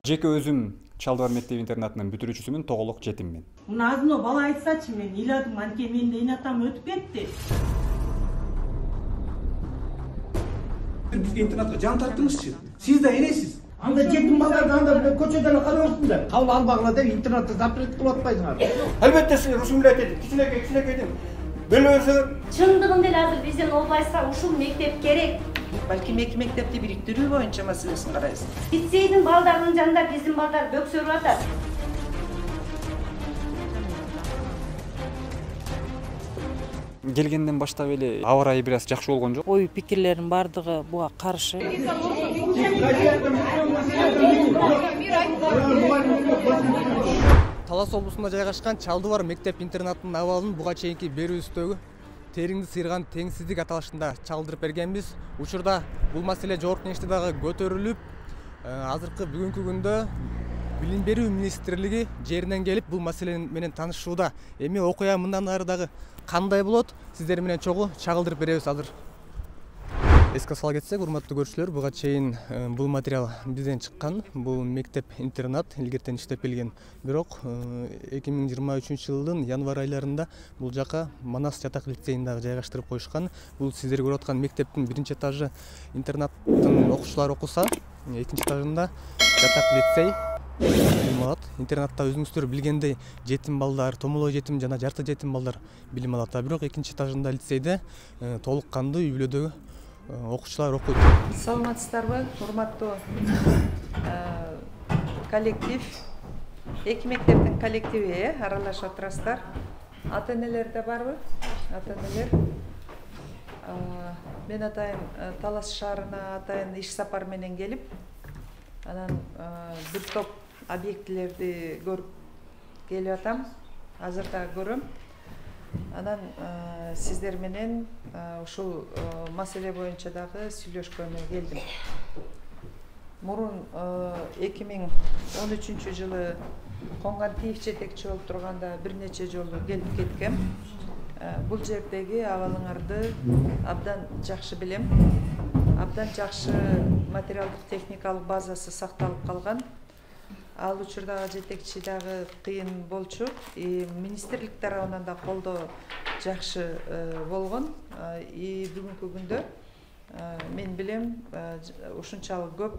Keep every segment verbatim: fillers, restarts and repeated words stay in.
Жеке өзүм Чалдыбар мектеп интернатынын бүтүрүүчүсүмүн, тоголок жетиммин. Мына азыно бала айтсачы, мен ыйладым, анткени менин эне атам өтүп кетти. Бизге интернатка жан тарттыңызчы. Сиз да энесиз. Анда жетим балдарды анда көчөдөн карабаптыңдар. Кабыл албагыла деп интернатты запрет кылып атпайсыңар. Албетте сиз ушундай айтты. Кичинекей кичинекейдин бөлөсү. Чындыгында эле азыр биздин областта ушул мектеп керек. Балки эки мектепти бириктирүү боюнча маселесин карайбыз. Лицейдин балдарынын жанында биздин балдар бөксөрүп атат. Келгенден баштап эле аба ырайы бир аз жакшы болгон жок. Ой пикирлердин бардыгы буга каршы. Талас облусунда жайгашкан Чалдыбар мектеп интернатынын абалын буга чейинки берүүбүздөгү тереңди сыйрган теңсиздик аталышында чалдырып бергенбиз. Учурда бул маселе жогорку кеңеште дагы көтөрүлүп, азыркы бүгүнкү күндө Билим берүү министрлиги жеринен келип бул маселе менен таанышууда. Эми окуя мындан ары дагы кандай болот? Сиздер менен чогуу чагылдырып беребиз азыр. Эске сала кетсек, урматтуу көрүүчүлөр, буга чейин бул материал бизден чыккан. Бул мектеп-интернат илгертен иштеп келген. Бирок эки миң жыйырма үчүнчү жылдын январь айларында бул жака Манас жатак лицейин дагы жайгаштырып коюшкан. Бул сиздер көрүп аткан мектептин биринчи этажы интернаттын окуучулары окуса, экинчи этажында жатак лицей билим алат. Интернатта өзүңүздөр билгендей жетим балдар, томолой жетим жана жарты жетим балдар билим алат. Бирок экинчи этажында лицейде толук кандуу үй бүлөдөгү окуучулар окуйт. Саламатсыздарбы, урматтуу коллектив, эки мектептин коллективи аралашып отурасыздар. Ата-энелер да барбы? Ата-энелер. Мен атайын Талас шаарына атайын иш сапар менен келип, анан бир топ объектилерди көрүп келип атам. Азыр да көрөм. Анан сиздер менен ушул маселе боюнча дагы сүйлөшкөнү келдим. Мурун эки миң он үчүнчү жылы Коңгантиев жетекчи болуп турганда бир нече жолу келип кеткем. Бул жердеги абалыңарды абдан жакшы билем. Абдан жакшы материалдык техникалык базасы сакталып калган. Ал учурдагы жетекчи дагы кыйын болчу. Министрлик тарабынан да колдоо жакшы болгон. И бүгүнкү күндө мен билем ушунчалык көп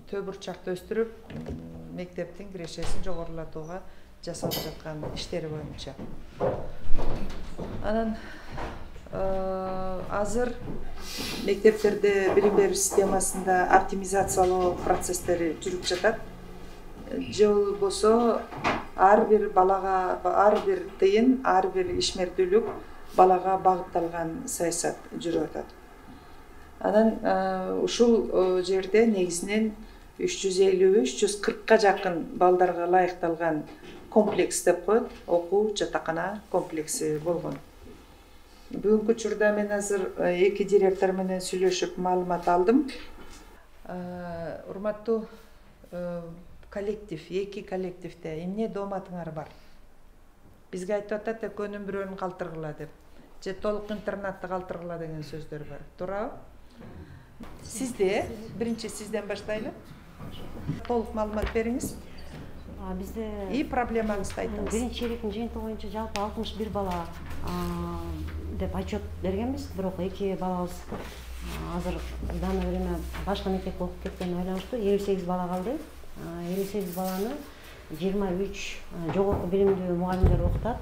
төө бурчакты өстүрүп мектептин кирешесин жогорулатууга жасалып жаткан иштери боюнча. Анан азыр мектептерде билим берүү системасында оптимизациялоо процесстери жүрүп жатат. Же болбосо ар бир балага, ар бир тыйын, ар бир ишмердүүлүк балага багытталган саясат жүрүп атат. Анан ушул жерде негизинен үч жүз элүү үч жүз кыркка жакын балдарга ылайыкталган комплекс деп коет, окуу жатакана комплекси болгон. Бүгүнкү учурда мен азыр эки директор менен сүйлөшүп маалымат алдым. Урматтуу коллектив, эки коллективде эмне дооматыңар бар? Бизге айтып атат, экөөнүн бирөөнүн калтыргыла деп. Же толук интернатты калтыргыла деген сөздөр бар. Туурабы? Сизде, биринчи сизден баштайлы. Толук маалымат бериңиз. Бизде и проблемаңызды айтыңыз. Биринчи чейректин жыйынтыгы боюнча жалпы алтымыш бир бала деп отчет бергенбиз, бирок эки балабыз азыр в данное время башка мектепке окуп кеткени байланыштуу элүү сегиз бала калды. элүү сегиз баланы жыйырма үч жогорку билимдүү мугалимдер окутат.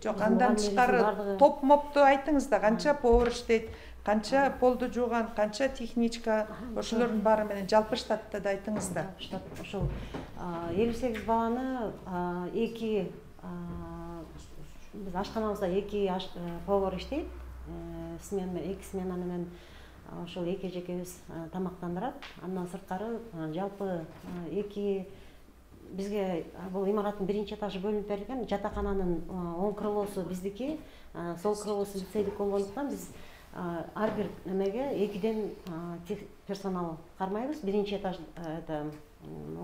Жок, андан тышкары топ мопту айтыңыз да, канча повар иштейт, канча полду жууган, канча техничка, ошолордун баары менен жалпы штатты да айтыңыз да. Штат ошол элүү сегиз баланы эки биз ашканабызда эки повар иштейт. Смена эки смена менен ошол эки эжекебиз тамактандырат. Андан сырткары жалпы эки бизге бул имараттын биринчи этажы бөлүнүп берилген. Жатакананын оң крылосу биздики, сол крылосу лицейдики болгондуктан биз ар бир немеге экиден персонал кармайбыз. Биринчи этаж это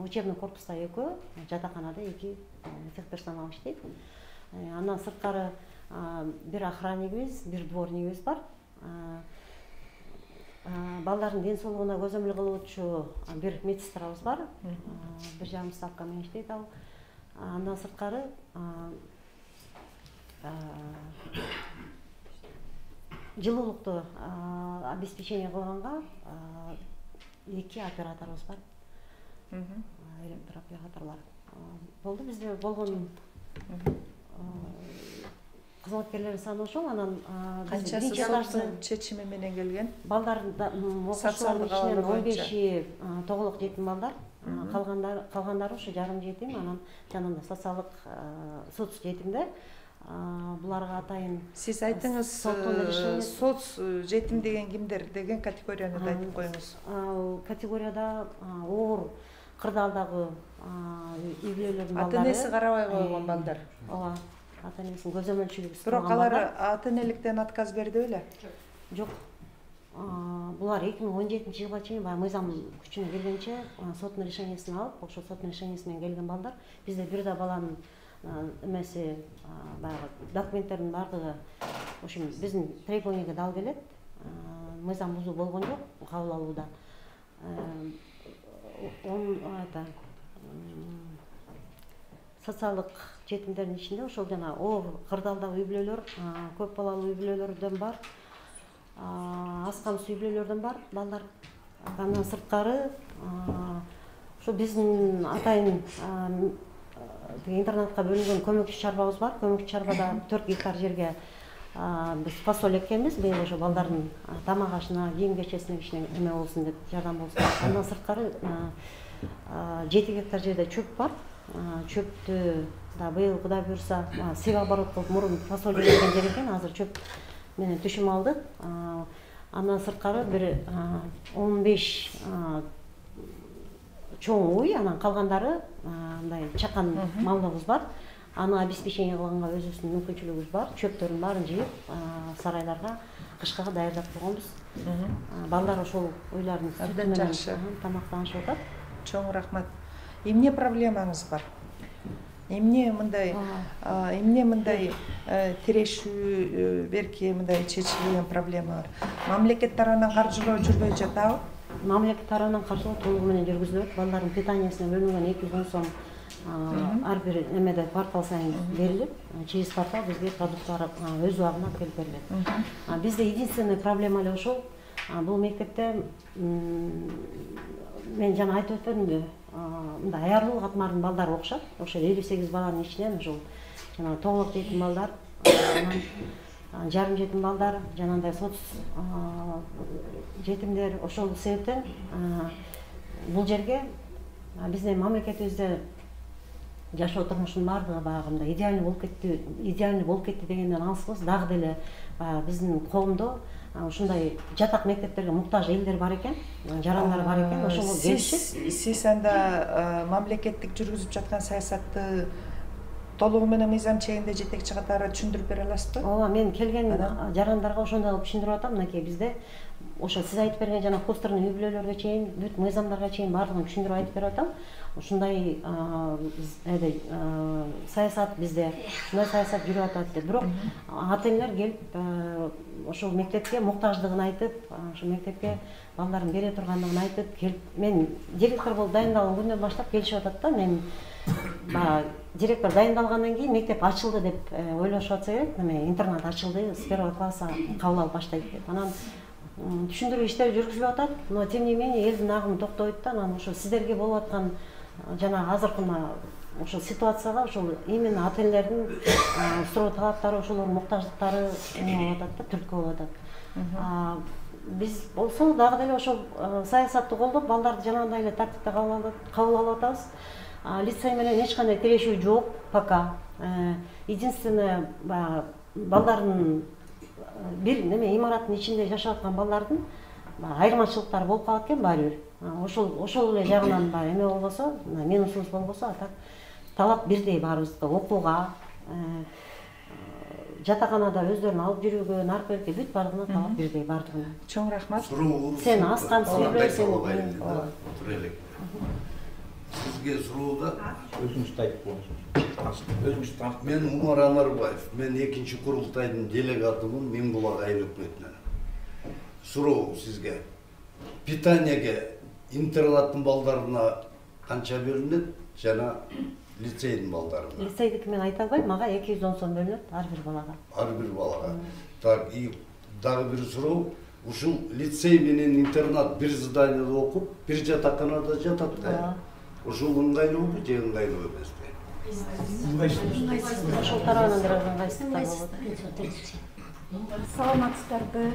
учебный корпуста экөө, жатаканада эки техперсонал иштейт. Андан сырткары бир охраннигибиз, бир дворнигибиз бар. Балдардын ден соолугуна көзөмөл кылып отчу бир медсестрабыз бар. Бир жарым ставка менен иштейт ал. Андан сырткары жылуулукту обеспечение кылганга эки операторубуз бар. Электр операторлор болду. Бизде болгон кызматкерлердин саны ошол. Анан канчасы соттун чечими менен келген? Балдардын окуучулардын ичинен он беши тоголок жетим балдар, калгандары калгандары ушу жарым жетим, анан жанагындай социалдык соц жетимдер. Буларга атайын сиз айтыңыз, соц жетим деген кимдер деген категорияны да айтып коюңуз. Ал категорияда оор кырдаалдагы үй бүлөлөрдүн балдары. Ата-энеси карабай койгон балдар. Ооба, ата-энесинин көзөмөлчүлүгү. Бирок алар ата-энеликтен отказ берди беле? Жок. Булар эки миң он жетинчи жылга чейин баягы мыйзам күчүнө келгенче соттун решениясын алып, ошол соттун решениясы менен келген балдар. Бизде бир да баланын эмеси баягы документтердин бардыгы ошо биздин требованияга дал келет. Мыйзам бузуу болгон жок кабыл алууда. Он это социалдык жетимдердин ичинде ошол жана оор кырдаалдагы үй бүлөлөр, көп балалуу үй бүлөлөрдөн бар, аз камсыз үй бүлөлөрдөн бар балдар. Андан сырткары ошо биздин атайын интернатка бөлүнгөн көмөкчү чарбабыз бар. Көмөкчү чарбада төрт гектар жерге биз фасоль эккенбиз. Быйыл ошо балдардын тамак ашына, кийим кечесине кичине эме болсун деп, жардам болсун. Андан сырткары жети гектар жерде чөп бар. Чөптү да быйыл Кудай буйрса сек оборот кылып мурун фасоль эккен жер экен, азыр чөп менен түшүм алдык. Андан сырткары бир он беш чоң уй, анан калгандары мындай чакан малыбыз бар. Аны обеспечение кылганга өзүбүздүн мүмкүнчүлүгүбүз бар. Чөптөрдүн баарын жыйып сарайларга кышка даярдап койгонбуз. Балдар ошол уйлардын сүтү менен тамактанышып атат. Чоң рахмат. Эмне проблемаңыз бар? Эмне мындай, эмне мындай тирешүү берки мындай чечилген проблема бар? Мамлекет тарабынан каржылоо жүрбөй жатабы? Мамлекет тарабынан каржылоо толугу менен жүргүзүлөт. Балдардын питаниясына бөлүнгөн эки жүз он сом ар бир эмеде квартал сайын берилет. Через квартал бизге продукттар өз убагында алып келип берилет. Бизде единственный проблема эле ошол. Бул мектепте мен жана айтып өтпөдүмбү? Мындай аярлуу катмардын балдары окушат. Ошо элүү сегиз баланын ичинен ошол жана тоголок жетим балдар, жарым жетим балдар, жанагындай соц жетимдер. Ошол себептен бул жерге биздин мамлекетибизде жашоо турмушунун баардыгы баягы идеальный болуп кетти, идеальный болуп кетти дегенден алыспыз. Дагы деле биздин коомдо ушундай жатак мектептерге муктаж элдер бар экен, жарандар бар экен. Ошого келишип, сиз анда мамлекеттик жүргүзүп жаткан саясатты толугу менен мыйзам чегинде жетекчи катары түшүндүрүп бере аласызбы? Ооба, мен келген жарандарга ошондой кылып түшүндүрүп атам. Мынакей бизде ошо сиз айтып берген жана кластерный үй бүлөлөргө чейин, бүт мыйзамдарга чейин баардыгын түшүндүрүп айтып берип атам. Ушундай саясат бизде, ушундай саясат жүрүп атат деп. Бирок ата-энелер келип ошол мектепке муктаждыгын айтып, ошол мектепке балдарын бере тургандыгын айтып келип, мен директор болуп дайындалган күндөн баштап келишип атат да. Мен баягы директор дайындалгандан кийин мектеп ачылды деп ойлошуп атса керек. Эме интернат ачылды, с первого класса кабыл алып баштайт деп. Анан түшүндүрүү иштери жүргүзүлүп атат. Но тем не менее элдин агымы токтобойт да. Анан ошо сиздерге болуп аткан жана азыркы ошол ситуацияга ошол именно ата-энелердин суроо талаптары, ошолордун муктаждыктары эме болуп атат да, түрткү болуп атат. Биз болсо дагы деле ошол саясатты колдоп, балдарды жанагындай эле тартипте кабыл алып атабыз. Лицей менен эч кандай тирешүү жок пока. Единственное, балдардын бир неме имараттын ичинде жашап аткан балдардын айырмачылыктары болуп калат экен баары бир. Ошол ошол эле жагынан бар эме болбосо, минусубуз болбосо, а так талап бирдей баарыбызга, окууга, жатаканада өздөрүн алып жүрүүгө, наркотикке бүт баардыгына талап бирдей баардыгына. Чоң рахмат. Сен аз камсыз үй бүлө, Сизге суроуда өзүңүздү айтып коюңуз. Өзүңүздү таанытып. Мен Умар Анарбаев. Мен экинчи курултайдын делегатымын Миңбулак айыл өкмөтүнөн. суроо сизге. Питаниеге интернаттын балдарына канча бөлүнөт жана лицейдин балдарына? Лицейдики мен айта албайм, мага эки жүз он сом бөлүнөт ар бир балага. Ар бир балага. Так, и дагы бир суроо. Ушул лицей менен интернат бир зданияда окуп, бир жатаканада жатат да. Ушул ыңгайлуубу же ыңгайлуу эмеспи? Ошол тарабынан бир ыңгайсыздыктар болот. Саламатсыздарбы?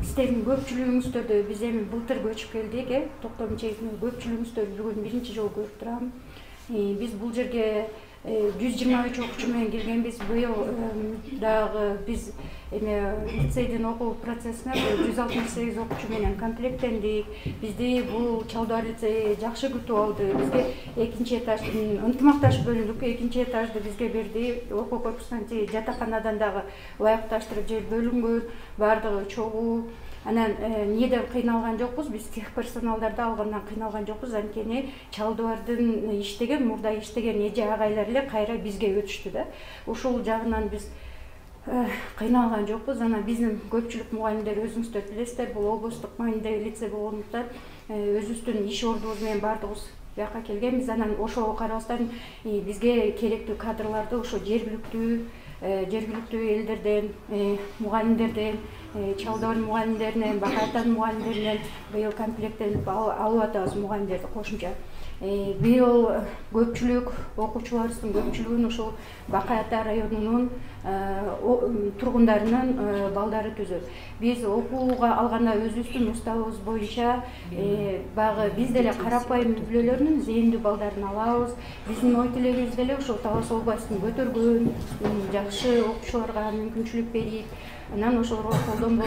Сиздердин көпчүлүгүңүздөрдү биз эми былтыр көчүп келдик, э? Токтом чейин көпчүлүгүңүздөр бүгүн биринчи жолу көрүп турам. Биз бул жерге жүз жыйырма үч окуучу менен келгенбиз. Быйыл дагы биз эми лицейдин окуу процессине жүз алтымыш сегиз окуучу менен комплекттендик. Бизди бул Чалдыбар лицейи жакшы күтүп алды. Бизге экинчи этаж ынтымакташып бөлүндүк. Экинчи этажды бизге берди. Окуу корпусунан жатаканадан дагы ылайыкташтырып жер бөлүнгөн. Бардыгы чогуу. Анан эмнеден кыйналган жокпуз, биз тех персоналдарды алгандан кыйналган жокпуз. Анткени Чалдыбардын иштеген, мурда иштеген эже агайлар эле кайра бизге өтүштү да. Ушул жагынан биз кыйналган жокпуз. Анан биздин көпчүлүк мугалимдер өзүңүздөр билесиздер, бул облустук маанидеги лицей болгондуктан өзүбүздүн иш ордубуз менен бардыгыбыз бияка келгенбиз. Анан ошого карабастан бизге керектүү кадрларды ошо жергиликтүү жергиликтүү элдерден, мугалимдерден, Чалдыбар мугалимдеринен, Бакай Атанын мугалимдеринен быйыл комплекттенип алып атабыз мугалимдерди кошумча. Быйыл көпчүлүк окуучуларыбыздын көпчүлүгүн ушул Бакай Ата районунун тургундарынын балдары түзөт. Биз окууга алганда өзүбүздүн уставыбыз боюнча багы биз деле карапайым үй-бүлөлөрдүн зээндүү балдарын алабыз. Биздин ой тилегибиз деле ушул Талас областын көтөргөн, жакшы окуучуларга мүмкүнчүлүк берип, анан ошолорго колдон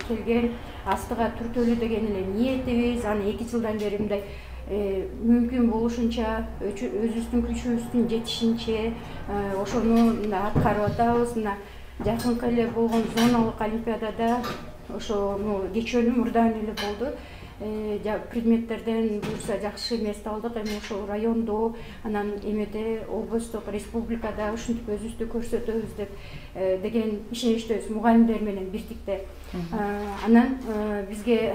келген астыга түртөлүү деген эле ниетибиз. Аны эки жылдан бери мындай мүмкүн болушунча өзүбүздүн күчүбүздүн жетишинче ошону аткарып атабыз. Мына жакынкы эле болгон зоналык олимпиадада ошону кечөөнү мурдан эле болду. Предметтерден буюрса жакшы место алдык. Эми ошол райондо, анан эмеде облустук, республикада ушинтип өзүбүздү көрсөтөбүз деп деген ишеничтебиз мугалимдер менен бирдикте. Анан бизге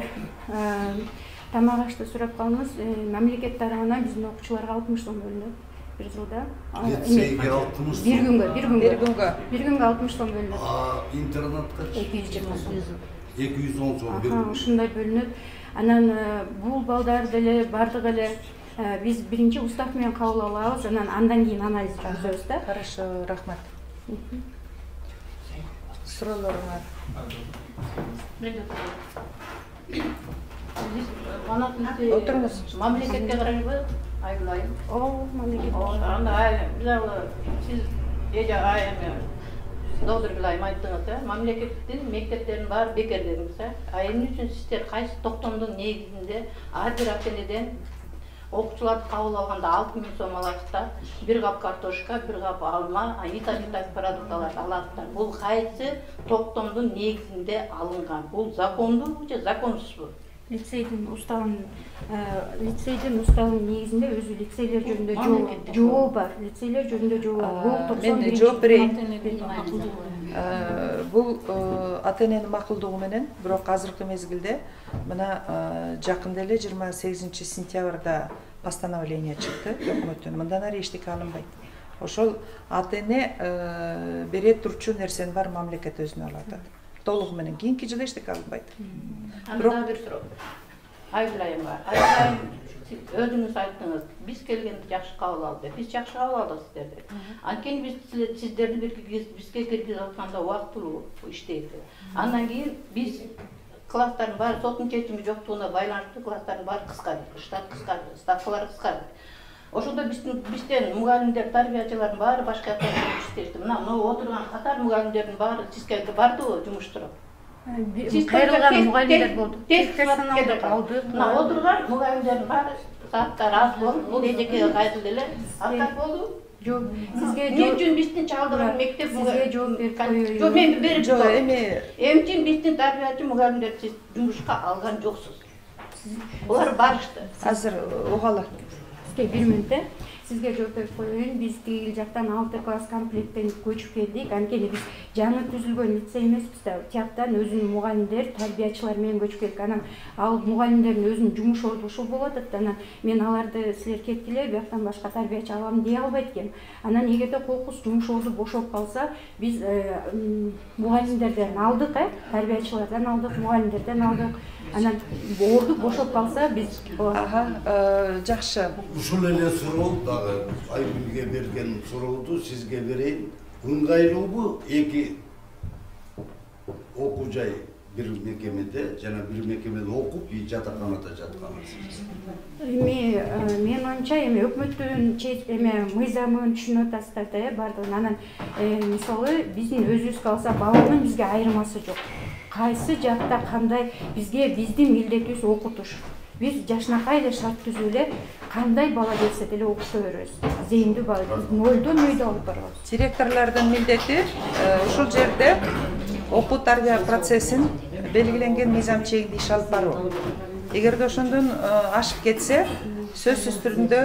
тамак ашты сурап калдыңыз. Мамлекет тарабынан биздин окуучуларга алтымыш сом бөлүнөт бир жылда. Лицейге алтымыш сом. Бир күнгө, бир күнгө. Бир күнгө. Бир күнгө алтымыш сом бөлүнөт. А интернатка эки жүз жыйырма сом. эки жүз он сом бөлүнөт. Ушундай бөлүнөт. Анан бул балдар деле бардыгы эле биз биринчи устав менен кабыл алабыз, анан андан кийин анализ жүргүзөбүз да. Хорошо, рахмат. Суроолоруңар. Отуруңуз. Мамлекетке карайбы? Айылайым. О, мамлекет. Анда айыл, сиз эже айыл Доктор Гүлайым айттыңыз, э? Мамлекеттин мектептеринин баары бекер дедиңиз, э? А эмне үчүн сиздер кайсы токтомдун негизинде ар бир ата-энеден окуучуларды кабыл алганда алты миң сом аласыздар, бир кап картошка, бир кап алма, витаминдик продукталарды аласыздар. Бул кайсы токтомдун негизинде алынган? Бул закондубу же законсузбу? Лицейдин уставынын лицейдин уставынын негизинде өзү лицейлер жөнүндө жобо бар. Лицейлер жөнүндө жобо бар. Мен жооп берейин. Бул ата-эненин макулдугу менен, бирок азыркы мезгилде мына жакында эле жыйырма сегизинчи сентябрда постановление чыкты өкмөттөн. Мындан ары эчтеке алынбайт. Ошол ата-эне бере турчу нерсени бар мамлекет өзүнө алат. Толугу менен кийинки жылы эчтеке алынбайт. Анда бир суроо. Айылайым бар. Айылайым өзүңүз айттыңыз, биз келгенде жакшы кабыл алды. Биз жакшы кабыл алдык сиздерди. Анткени биз сиздерди бизге киргизип атканда убактылуу иштейт. Андан кийин биз класстардын баары соттун чечими жоктугуна байланыштуу класстардын баары кыскарды, штат кыскарды, ставкалар кыскарды. Ошондо биздин бизден мугалимдер, тарбиячылардын баары башка жакка иштешти. Мына могу отурган катар мугалимдердин баары сизге бардыбы жумуштуруп? Кайрылган мугалимдер болду. Персоналды алды. Мына отурган мугалимдердин баары сааттар аз болуп, бул эжекеге кайтылды эле. Аттар болду. Жок, сизге эмне үчүн биздин Чалдыбар мектеп сизге жооп берип коюю. Жок, мен берип жок, эми эмне үчүн биздин тарбиячы мугалимдерди сиз жумушка алган жоксуз? Булар барышты. Азыр угалы. Сизге бир мүнөт. сизге жооп берип коеюн. Биз тигил жактан алты класс комплекттен көчүп келдик. Анткени биз жаңы түзүлгөн лицей эмеспиз да. Тияктан өзүнүн мугалимдер, тарбиячылар менен көчүп келдик. Анан ал мугалимдердин өзүнүн жумуш орду ушул болуп атат. Анан мен аларды силер кеткиле, бияктан башка тарбиячы алам дей албайт экенмин. Анан эгерде кокус жумуш орду бошоп калса, биз мугалимдерден алдык, э, тарбиячылардан алдык, мугалимдерден алдык. Анан орду бошоп калса биз ага, жакшы. Ушул эле суроо дагы Айгүлгө берген сурооду сизге берейин. Ыңгайлуубу эки окуу жай бир мекемеде жана бир мекемеде окуп, жатаканада жатканыңыз? Эми мен оюмча эми өкмөттүн эме мыйзамын түшүнүп атасыздар да, э, бардыгын. Анан мисалы биздин өзүбүзгө алса баланын бизге айырмасы жок. Кайсы жакта кандай бизге биздин милдетибиз окутуш. Биз жашынакай эле шарт түзүп эле кандай бала келсе деле окута беребиз. Зейиндүү бала нөлдөн өйдө алып барабыз. Директорлордун милдети ушул жерде окуу тарбия процессин белгиленген мыйзам чегинде иш алып баруу. Эгерде ошондон ашып кетсе, сөзсүз түрдө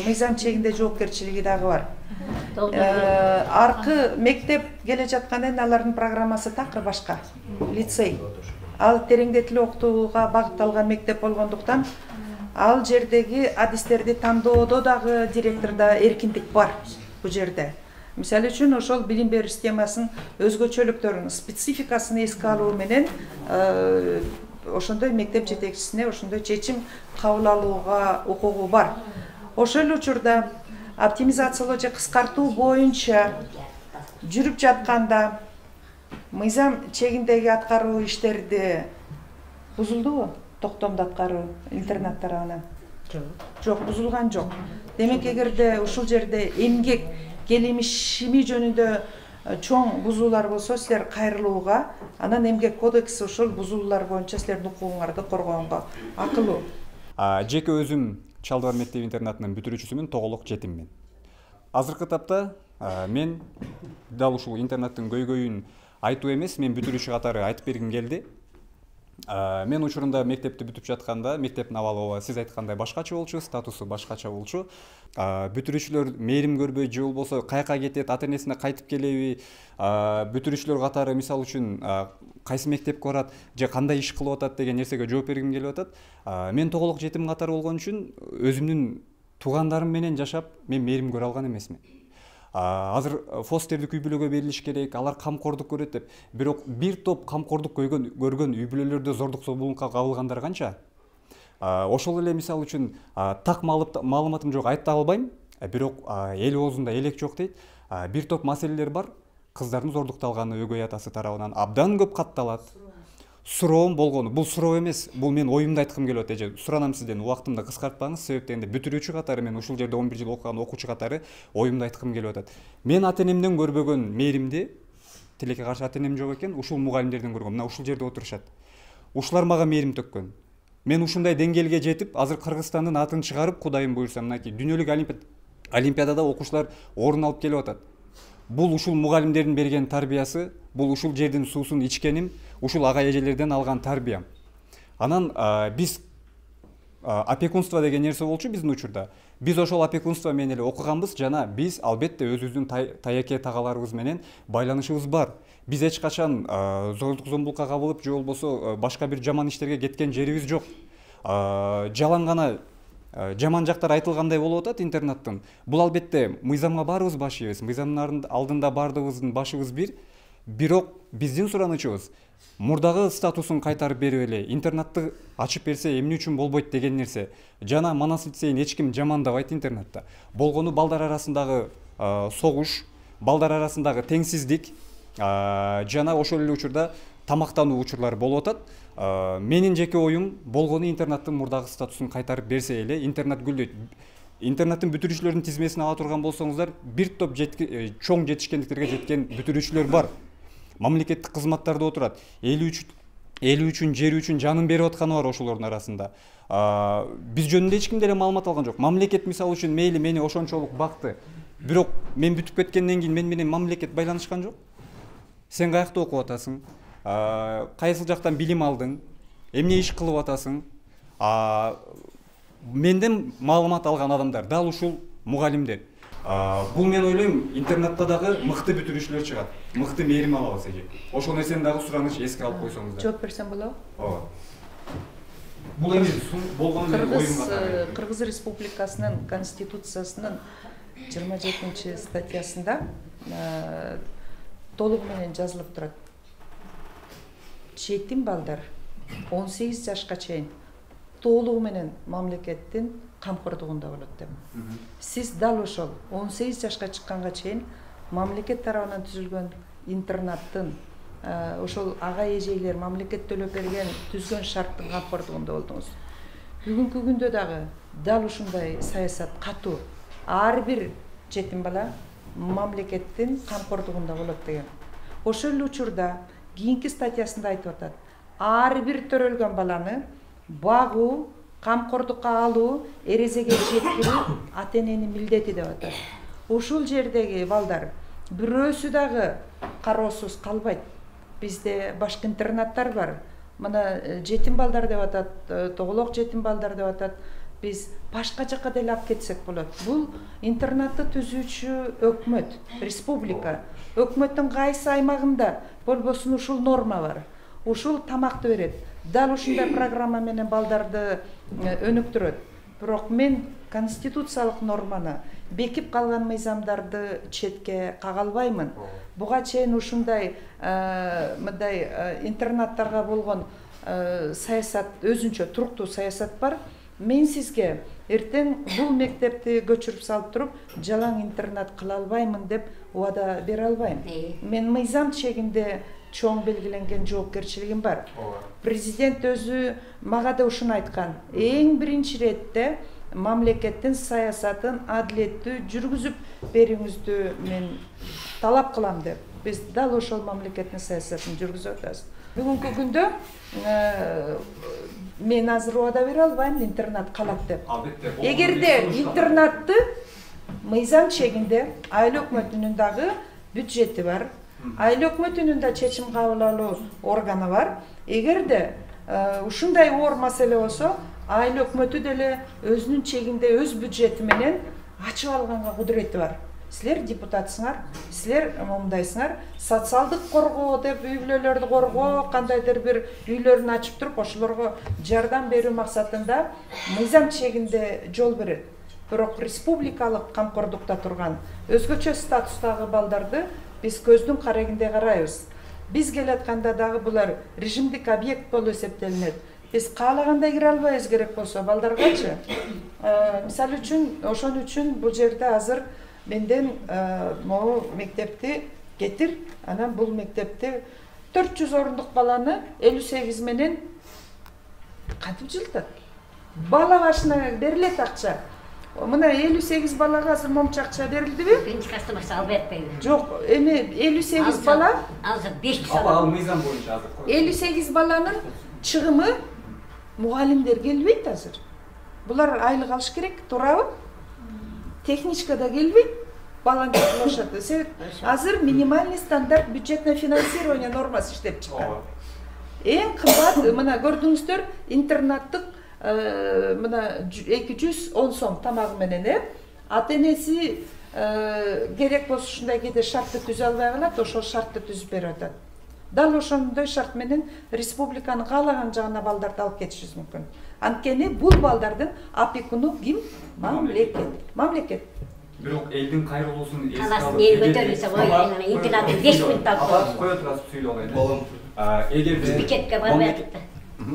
мыйзам чегинде жоопкерчилиги дагы бар. Аркы мектеп келе жатканда эми алардын программасы такыр башка. Лицей. Ал тереңдетилип окутууга багытталган мектеп болгондуктан ал жердеги адистерди тандоодо дагы директордо эркиндик бар бул жерде. Мисалы үчүн ошол билим берүү системасынын өзгөчөлүктөрүн, спецификасын эске алуу менен ошондой мектеп жетекчисине ошондой чечим кабыл алууга укугу бар. Ошол эле учурда оптимизациялоо же кыскартуу боюнча жүрүп жатканда мыйзам чегиндеги аткаруу иштерди бузулдубу? Токтомду аткаруу интернат тарабынан? Жок. Жок, бузулган жок. Демек, эгерде ушул жерде эмгек келишими жөнүндө чоң бузуулар болсо, силер кайрылууга, анан эмгек кодекси ушул бузуулар боюнча силердин укугуңарды коргоонго акылуу. Жеке өзүм Чалдыбар мектеп интернатынын бүтүрүүчүсүмүн, тоголок жетиммин. Азыркы тапта мен дал ушул интернаттын көйгөйүн айтуу эмес, мен бүтүрүүчү катары айтып бергим келди. Мен учурунда мектепти бүтүп жатканда, мектептин абалы сиз айткандай башкача болчу, статусу башкача болчу. Бүтүрүүчүлөр мээрим көрбөй же болбосо каяка кетет, ата энесине кайтып келеби, бүтүрүүчүлөр катары мисалы үчүн кайсы мектепке барат же кандай иш кылып атат деген нерсеге жооп бергим келип атат. Мен тоголок жетим катары болгон үчүн өзүмдүн туугандарым менен жашап, мен мээрим көрө алган эмесмин. Азыр фостерди үй бүлөгө берилиш керек, алар камкордук көрөт деп. Бирок бир топ камкордук көргөн үй бүлөлөрдө зордук зомбулукка кабылгандар канча? Ошол эле мисалы үчүн так маалыматым жок, айта албайм, бирок эл оозунда элек жок дейт. Бир топ маселелер бар. Кыздардын зордукталганы өгөй атасы тарабынан абдан көп катталат. Суроом болгону, бул суроо эмес, бул мен оюмду айткым келип атат. Эже суранам сизден, убактымды кыскартпаңыз, себеп дегенде бүтүрүүчү катары мен ушул жерде он бир жыл окуган окуучу катары оюмду айткым келип атат. Мен ата энемден көрбөгөн мээримди, тилекке каршы ата энем жок экен, ушул мугалимдерден көргөм. Мына ушул жерде отурушат. Ушулар мага мээрим төккөн. Мен ушундай деңгээлге жетип, азыр Кыргызстандын атын чыгарып, Кудайым буйрса, мынакей дүйнөлүк олимпиадада окуучулар орун алып келип атат. Бул ушул мугалимдердин берген тарбиясы, бул ушул жердин суусун ичкеним, ушул ага эжелерден алган тарбиям. Анан биз опекунство деген нерсе болчу биздин учурда. Биз ошол опекунство менен эле окуганбыз жана биз албетте өзүбүздүн таяке тагаларыбыз менен байланышыбыз бар. Биз эч качан зордук зомбулукка кабылып же болбосо башка бир жаман иштерге кеткен жерибиз жок. Жалаң гана жаман жактар айтылгандай болуп атат интернаттын. Бул албетте мыйзамга баарыбыз баш ийбиз. Мыйзамдын алдында баардыгыбыздын башыбыз бир. Бирок биздин суранычыбыз мурдагы статусун кайтарып берип эле интернатты ачып берсе эмне үчүн болбойт деген нерсе. Жана Манас лицейин эч ким жамандабайт интернатта. Болгону балдар арасындагы согуш, балдар арасындагы теңсиздик жана ошол эле учурда тамактануу учурлары болуп атат. Менин жеке оюм болгону интернаттын мурдагы статусун кайтарып берсе эле интернат гүлдөйт. Интернаттын бүтүрүүчүлөрдүн тизмесин ала турган болсоңуздар, бир топ чоң жетишкендиктерге жеткен бүтүрүүчүлөр бар. Мамлекеттик кызматтарда отурат. Эли үчүн, жери үчүн жанын берип атканы бар ошолордун арасында. Биз жөнүндө эч ким деле маалымат алган жок. Мамлекет мисалы үчүн мейли мени ошончолук бакты. Бирок мен бүтүп кеткенден кийин мен менен мамлекет байланышкан жок. Сен каякта окуп атасың? Кайсы жактан билим алдың? Эмне иш кылып атасың? Менден маалымат алган адамдар дал ушул мугалимдер. Бул мен ойлойм, интернетте дагы мыкты бүтүрүүчүлөр чыгат, мыкты мээрим алабыз эже. Ошол нерсени дагы сураныч эске алып койсоңуздар. Жооп берсем болобу? Ооба. Бул эми болгон Кыргыз Кыргыз Республикасынын Конституциясынын жыйырма жетинчи статьясында толугу менен жазылып турат. Жетим балдар он сегиз жашка чейин толугу менен мамлекеттин камкордугунда болот деп. Сиз дал ошол он сегиз жашка чыкканга чейин мамлекет тарабынан түзүлгөн интернаттын, ошол ага эжейлер мамлекет төлөп берген түзгөн шарттын камкордугунда болдуңуз. Бүгүнкү күндө дагы дал ушундай саясат катуу. Ар бир жетим бала мамлекеттин камкордугунда болот деген. Ошол эле учурда кийинки статьясында айтып атат. Ар бир төрөлгөн баланы багуу, камкордукка алуу, эрезеге жеткирүү ата-эненин милдети деп атат. Ушул жердеги балдар бирөөсү дагы кароосуз калбайт. Бизде башка интернаттар бар. Мына жетим балдар деп атат, тоголок жетим балдар деп атат. Биз башка жакка деле алып кетсек болот. Бул интернатты түзүүчү өкмөт, республика. Өкмөттүн кайсы аймагында болбосун ушул норма бар. Ушул тамакты берет. Дал ушундай программа менен балдарды өнүктүрөт. Бирок мен конституциялык норманы, бекип калган мыйзамдарды четке кага албаймын. Буга чейин ушундай мындай интернаттарга болгон саясат, өзүнчө туруктуу саясат бар. Мен сизге эртең бул мектепти көчүрүп салып туруп, жалаң интернат кыла албаймын деп убада бере албайм. Мен мыйзам чегинде чоң белгиленген жоопкерчилигим бар. Президент өзү мага да ушуну айткан. Эң биринчи иретте мамлекеттин саясатын адилеттүү жүргүзүп берүүңүздү мен талап кылам деп. Биз дал ошол мамлекеттин саясатын жүргүзүп атабыз. Бүгүнкү күндө мен азыр убада бере албайм интернат калат деп. Эгерде интернатты мыйзам чегинде айыл өкмөтүнүн дагы бюджети бар. Айыл өкмөтүнүн да чечим кабыл алуу органы бар. Эгерде ушундай оор маселе болсо, айыл өкмөтү деле өзүнүн чегинде өз бюджети менен ачып алганга кудурети бар. Силер депутатсыңар, силер мындайсыңар, социалдык коргоо деп үй бүлөлөрдү коргоо, кандайдыр бир үйлөрүн ачып туруп, ошолорго жардам берүү максатында мыйзам чегинде жол берет. Бирок республикалык камкордукта турган өзгөчө статустагы балдарды биз көздүн карегинде карайбыз. Биз келатканда дагы булар режимдик объект болуп эсептелинет. Биз каалагандай кире албайбыз керек болсо балдаргачы. Мисалы үчүн, ошон үчүн бул жерде азыр менден могу мектепти кетир, анан бул мектепти төрт жүз орундук баланы элүү сегиз менен кантип жылытат? Бала башына берилет акча. Мына элүү сегиз балага азыр момчу акча берилдиби? Биринчи класста башка албайт. Жок, эми элүү сегиз бала, азыр беш жүз. Ал мыйзам боюнча азыр. элүү сегиз баланын чыгымы мугалимдер келбейт азыр. Булар айлык алыш керек, туурабы? Техничка да келбейт, баланы кылышат. Азыр минимальный стандарт бюджетное финансирование нормасы иштеп чыккан. Эң кымбат, мына көрдүңүздөр, интернаттык мына эки жүз он сом тамагы менен, э? Ата-энеси керек болсо ушундай кээде шартты түзө албай калат, ошол шартты түзүп берип атат. Дал ошондой шарт менен республиканын каалаган жагына балдарды алып кетишибиз мүмкүн. Анткени бул балдардын опекуну ким? Мамлекет. Мамлекет. Бирок элдин кайрылуусун эске алып, эл көтөрүлсө ой, интернатты беш мүнөт алып. Кое турасыз сүйлөп алайын. Эгерде бюджетке барбай.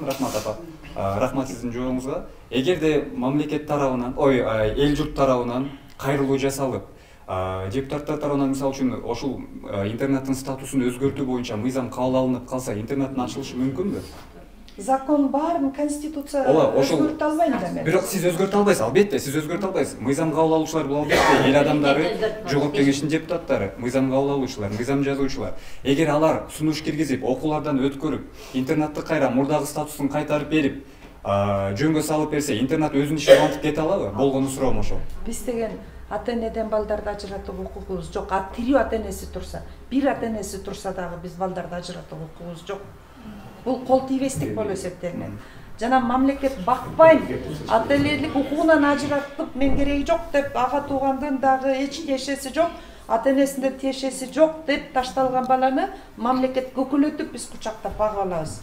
Рахмат апа. Рахмат сиздин жооңузга. Эгерде мамлекет тарабынан, ой, эл журт тарабынан кайрылуу жасалып, депутаттар тарабынан мисалы үчүн ошол интернеттин статусун өзгөртүү боюнча мыйзам кабыл алынып калса, интернеттин ачылышы мүмкүнбү? Закон баарын конституция өзгөртө албайм да мен. Бирок сиз өзгөртө албайсыз, албетте сиз өзгөртө албайсыз. Мыйзам кабыл алуучулар бул албетте эл адамдары, жогорку кеңештин депутаттары, мыйзам кабыл алуучулар, мыйзам жазуучулар. Эгер алар сунуш киргизип, окуулардан өткөрүп, интернатты кайра мурдагы статусун кайтарып берип, жөнгө салып берсе, интернат өзүнүн ишин кантип кете алабы? Болгону суроом ошол. Биз деген ата-энеден балдарды ажыратуу укугубуз жок. Тирүү ата-энеси турса, бир ата-энеси турса дагы биз балдарды ажыратуу укугубуз жок. Бул кол тийбестик болуп эсептелинет. жана мамлекет бакпайм, ата энелик укугунан ажыратып мен кереги жок деп, ага туугандын дагы эч тиешеси жок, ата энесинде тиешеси жок деп ташталган баланы мамлекет көкөлөтүп биз кучактап бага алабыз.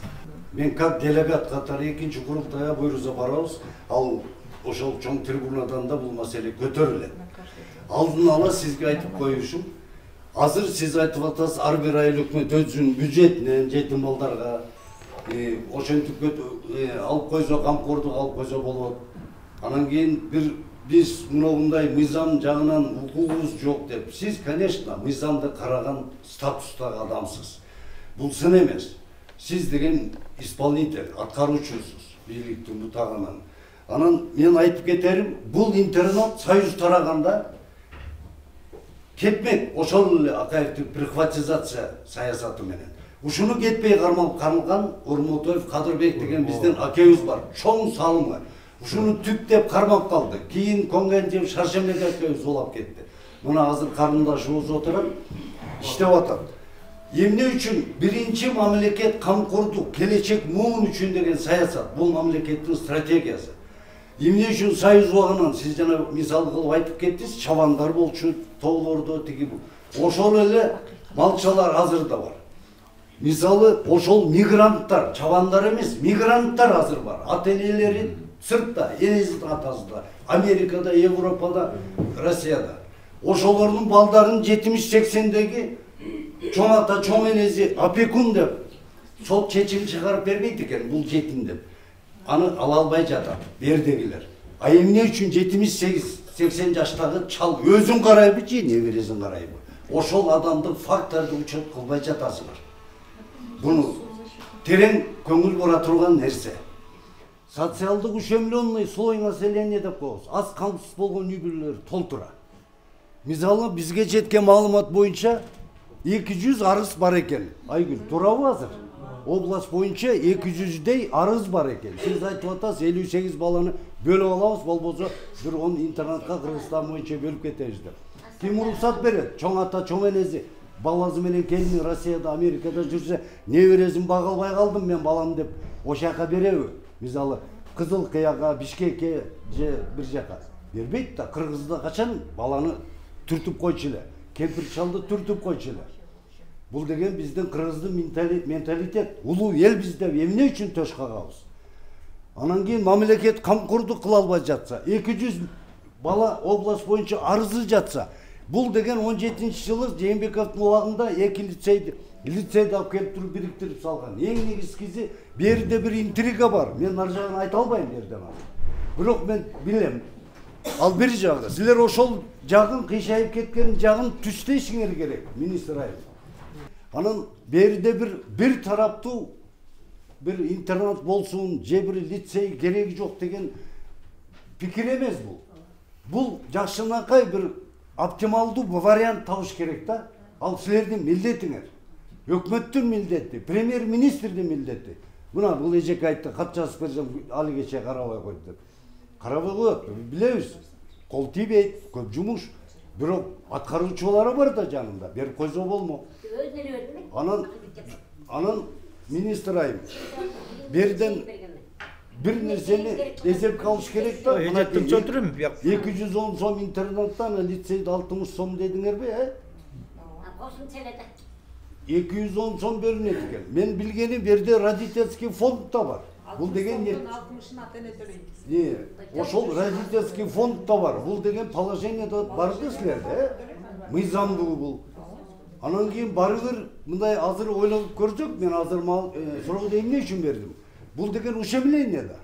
Мен как делегат катары экинчи курултайга буйруза барабыз. Ал ошол чоң трибунадан да бул маселе көтөрүлөт. Алдын ала сизге айтып коюшум, азыр сиз айтып атасыз, ар бир айыл өкмөт өзүнүн бюджетинен жетим балдарга ошентип алып койсо, камкордук алып койсо болот. Анан кийин бир биз мындай мыйзам жагынан укугубуз жок деп. Сиз, конечно, мыйзамды караган статустагы адамсыз. Бул сын эмес. Сиз деген исполнитель, аткаруучусуз, бийликтин бутагынан. Анан мен айтып кетерим, бул интернат союз тараганда кетмек, ошол эле Акаевдин прихватизация саясаты менен. Ушуну кетпей кармалган Ормотоев, Кадырбек деген биздин акебиз бар, чоң салымы. Ушуну түптеп кармап калды. Кийин Конгенжев, Шаршембек акебиз улап кетти. Мына азыр карындашыбыз отурат, иштеп атат. Эмне үчүн биринчи мамлекет камкордук, келечек муун үчүн деген саясат, бул мамлекеттин стратегиясы. Эмне үчүн союз убагынан сиз жана мисал кылып айтып кеттиңиз, чабандар болчу, тоолордо тиги бул. Ошол эле малчалар азыр да бар. Мисалы ошол мигранттар, чабандар эмес, мигранттар азыр бар. Ата энелери сыртта, энесинин атасында, Америкада, Европада, Россияда. Ошолордун балдарын жетимиш сексендеги чоң ата, чоң энеси опекун деп сот чечим чыгарып бербейт экен, бул жетим деп. Аны ала албай жатат бердегилер. А эмне үчүн жетимиш сегиз сексен жаштагы чал өзүн карайбы же небересин карайбы? Ошол адамды факторду учет кылбай жатасыңар. Буну терең көңүл бура турган нерсе. Социалдык ущемленный слой населения деп коебуз. Аз камсыз болгон үй бүлөлөр толтура. Мисалы бизге жеткен маалымат боюнча эки жүз арыз бар экен. Айгүл, туурабы азыр? Область боюнча эки жүздөй арыз бар экен. Сиз айтып атасыз, элүү сегиз баланы бөлүп алабыз, болбосо бир он интернатка Кыргызстан боюнча бөлүп кетебиз деп. Ким уруксат берет? Чоң ата, чоң энеси баласы менен келини Россияда, Америкада жүрсө, небересин бага албай калдым мен балам деп ошол жака береби? Мисалы Кызыл Кыяга, Бишкекке же бир жака бербейт да. Кыргызда качан баланы түртүп койчу эле, кемпир чалды түртүп койчу эле. Бул деген биздин кыргыздын менталитет. Улуу эл биз деп эмне үчүн төш кагабыз? Анан кийин мамлекет камкордук кыла албай жатса, эки жүз бала область боюнча арызы жатса, бул деген он жетинчи жылы Жээнбековдун убагында эки лицейди лицейди алып келип туруп бириктирип салган. Эң негизгиси берде бир интрига бар. Мен ар жагын айта албайм берден азыр. Бирок мен билем. Ал бир жагы. Силер ошол жагын кыйшайып кеткен жагын түстөйсүңөр керек, министр айыл. Анан берде бир бир тараптуу бир интернат болсун, же бир лицей кереги жок деген пикир эмес бул. Бул жакшынакай бир оптималдуу вариант табыш керек да. Ал силердин милдетиңер. Өкмөттүн милдети, премьер-министрдин милдети. Мына бул эжеке айтты, кат жазып берсем али кече карабай койду деп. Карабай коет, билебиз. Кол тийбейт, көп жумуш. Бирок аткаруучулары бар да жанында, берип койсо болмо. Анан анан министр айым берден бир нерсени эсепке алыш керек да. эки жүз он сом интернаттан лицейде алтымыш сом дедиңерби, э? эки жүз он сом бөлүнөт экен. Мен билгеним берде родительский фонд да бар. Бул деген не? Ошол родительский фонд да бар. Бул деген положениеде барды силерде, э? Мыйзамдуу бул. Анан кийин барыбыр мындай азыр ойлонуп көрсөк, мен азыр суроо эмне үчүн бердим? Бул деген ущемление да.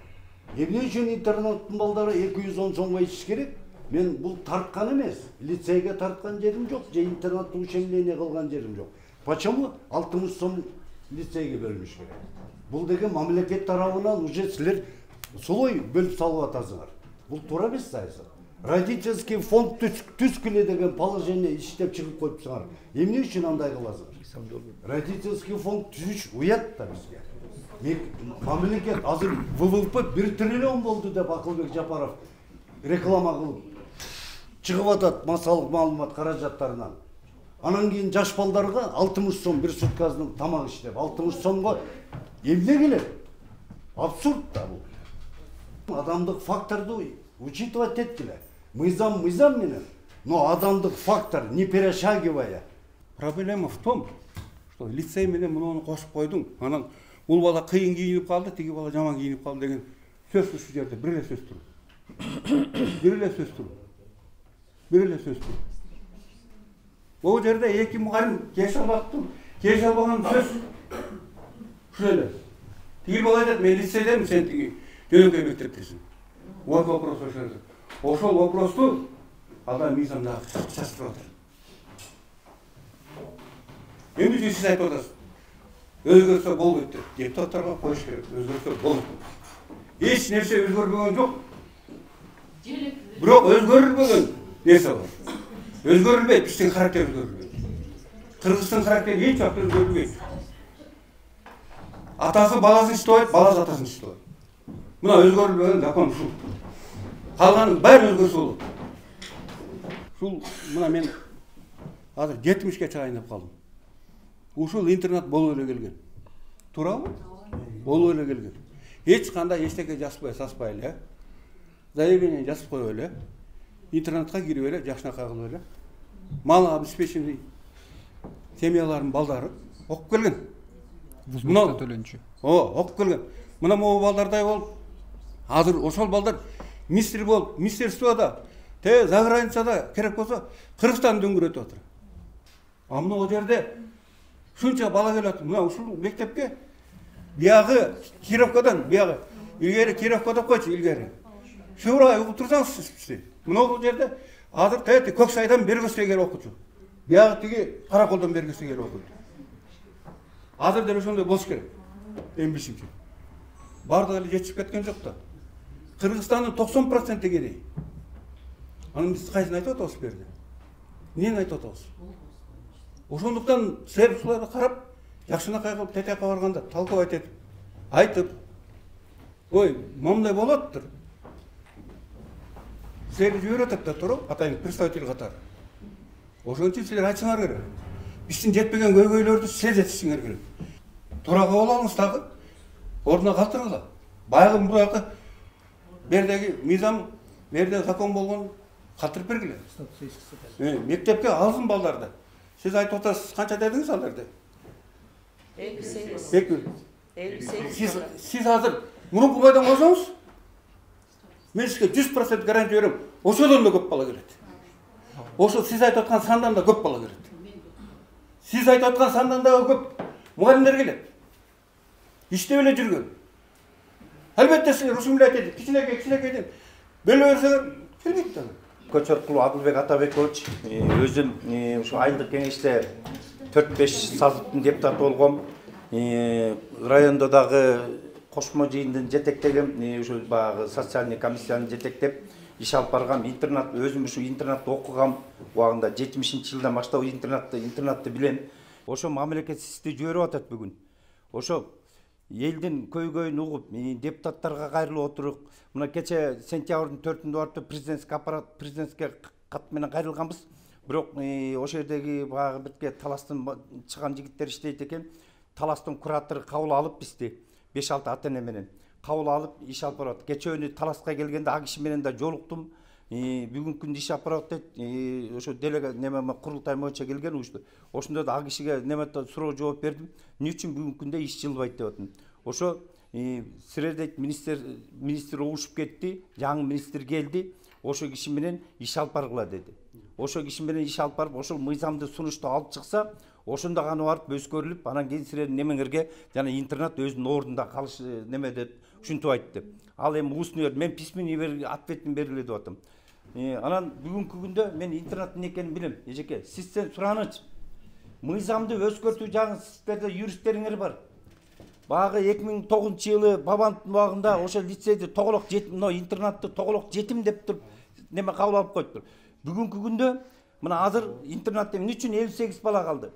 Эмне үчүн интернаттын балдары эки жүз он сомго ичиш керек? Мен бул тарткан эмес, лицейге тарткан жерим жок, же интернатты ущемление кылган жерим жок. Почему алтымыш сом лицейге бөлүнүш керек? Бул деген мамлекет тарабынан уже силер солой бөлүп салып атасыңар. Бул туура эмес саясат. Родительский фонд түскүлө деген положение иштеп чыгып коюпсуңар. Эмне үчүн андай кыласыңар? Родительский фонд түзүш уят да бизге. Мамлекет азыр вэ вэ пэ бир триллион болду деп Акылбек Жапаров реклама кылып чыгып атат массалык маалымат каражаттарынан. Анан кийин жаш балдарга алтымыш сом бир суткасынын тамак иштеп, алтымыш сомго эмне келет? Абсурд да бул. Адамдык факторду учитывать эткиле. Мыйзам мыйзам менен, но адамдык фактор не перешагивая. Проблема в том, что лицей менен муну кошуп койдуң. Анан бул бала кыйын кийинип калды, тиги бала жаман кийинип калды деген сөз ушул жерде бир эле сөз тур. Бир эле сөз тур. Бир эле сөз тур. Бул жерде эки мугалим кеше алаттым, кеше албаган сөз ушул эле. Тиги бала айтат, мен лицейдемин, сен тиги жөнөкөй мектептесиң. Вот вопрос ошол. Ошол вопросту адам мыйзамда чачып атат. Эмне үчүн сиз айтып атасыз? Өзгөрсө болбойт деп. Депутаттарга коюш керек. Өзгөрсө болот. Эч нерсе өзгөрбөгөн жок. Бирок өзгөрүлбөгөн нерсе бар. Өзгөрүлбөйт, биздин характер өзгөрүлбөйт. Кыргыздын характери эч убакта өзгөрүлбөйт. Атасы баласын иштебайт, баласы атасын иштебайт. Мына өзгөрүлбөгөн закон ушул. Калганын баары өзгөрсө болот. Ушул мына мен азыр жетимишке чыгайын калдым. Ушул интернет болуп эле келген. Туурабы? Болуп эле келген. Эч кандай эчтеке жазбай, саспай эле. Заявление жазып коюп эле. Интернетке кирип эле, жакшынакай кылып эле. Мал обеспеченный семьялардын балдары окуп келген. Мына төлөнчү. О, окуп келген. Мына могу балдардай болуп, азыр ошол балдар министр болуп, министерствода, те за границада керек болсо Кыргызстан дөңгөрөтүп атыр. А мына о жерде шунча бала келет. Мына ушул мектепке биягы Кировкадан, биягы илгери Кировка деп койчу, илгери. Шуурай угуп турсаңыз сиз. Мына бул жерде азыр тети Көксайдан бергөсө келип окучу. Биягы тиги Караколдон бергөсө келип окуйт. Азыр деле ошондой болуш керек. Эмбишимче. Бардыгы эле жетишип кеткен жок да. Кыргызстандын токсон проценти кедей. Анан биз кайсын айтып атабыз бу жерде? Эмнени айтып атабыз? Ошондуктан силер ушуларды карап, жакшынакай кылып ТТК барганда талкуулайт этип, айтып, ой, момундай болоттур. Силерди жиберет да туруп, атайын представитель катары. Ошон үчүн силер айтсаңар керек. Биздин жетпеген көйгөйлөрдү силер жетишиңер керек. Туура кабыл алыңыз дагы, ордуна калтыргыла. Баягы мурдагы бердеги мыйзам, берде закон болгон калтырып бергиле. Мектепке алсын балдарды. Сиз айтып атасыз, канча дедиңиз ал жерде? элүү сегиз. элүү сегиз. Сиз сиз азыр мурунку бойдон койсоңуз, мен сизге жүз процент гарантия берем, ошодон да көп бала келет. Ошо сиз айтып аткан сандан да көп бала келет. Сиз айтып аткан сандан да көп мугалимдер келет. Иштеп эле жүргөн. Албетте силер ушул эле айтат, кичинекей кичинекейден бөлө берсеңер келбейт да. Көчөркулов Адылбек Атабекович, өзүм ушу айылдык кеңеште төрт беш сазыптын депутаты болгом. Райондо дагы кошмо жыйындын жетектегем, ушул баягы социальный комиссияны жетектеп иш алып баргам. Интернет, өзүм ушу интернетте окугам. Убагында жетимишинчи жылдан баштап интернетти интернетти билем. Ошо мамлекет сизди жиберип атат бүгүн. Ошо элдин көйгөйүн угуп, депутаттарга кайрылып отуруп, мына кече сентябрдын төртүндө барып президентский аппарат президентке кат менен кайрылганбыз. Бирок ошол жердеги баягы бирке таластын чыган жигиттер иштейт экен. Таластын куратору кабыл алып бизди беш алты ата эне менен кабыл алып иш алып барат. Кече өнү таласка келгенде а киши менен да жолуктум. Бүгүнкү күндө иш алып барат дейт. Ошо делега неме курултай боюнча келген ушул. Ошондо да а кишиге неме суроо жооп бердим. Эмне үчүн бүгүнкү күндө иш жылбайт деп атам. Ошо силердей министр министр угушуп кетти, жаңы министр келди. Ошо киши менен иш алып баргыла деди. Ошо киши менен иш алып барып, ошол мыйзамды сунушту алып чыкса, ошондо гана барып өскөрүлүп, анан кийин силердин немеңерге жана интернет өзүнүн ордунда калыш неме деп ушинтип айтты. Ал эми устный мен письменный бер ответин бергиле деп атам. Анан бүгүнкү күндө мен интернеттин экенин билем. Эжеке, сизден сураныч. Мыйзамды өзгөртүү жагын сиздерде юристтериңер бар. Багы эки миң тогузунчу жылы Бабановдун убагында ошо лицейди тоголок жетим, мына интернетти тоголок жетим деп туруп неме кабыл алып коюптур. Бүгүнкү күндө мына азыр интернетте эмне үчүн элүү сегиз бала калды?